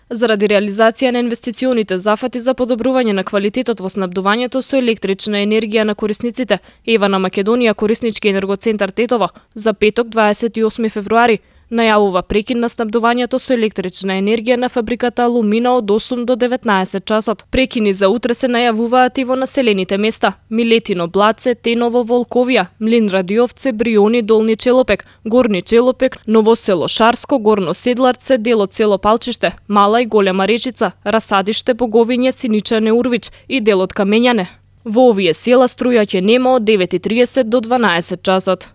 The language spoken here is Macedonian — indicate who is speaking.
Speaker 1: Заради реализација на инвестиционите зафати за подобрување на квалитетот во снабдувањето со електрична енергија на корисниците, Ева на Македонија кориснички енергоцентар Тетово за петок 28 февруари најавува прекин на снабдувањето со електрична енергија на фабриката Алумина од 8 до 19 часот. Прекини за утре се најавуваат и во населените места: Милетино, Блаце, Теново, Волковија, Млин Радиовце, Бриони, Долни Челопек, Горни Челопек, Ново село Шарско, Горно Седларце, дел од село Палчиште, Мала и Голема Речица, Расадиште, Боговиње, Синичане, Урвич и дел од Камењане. Во овие села струја ќе нема од 9:30 до 12 часот.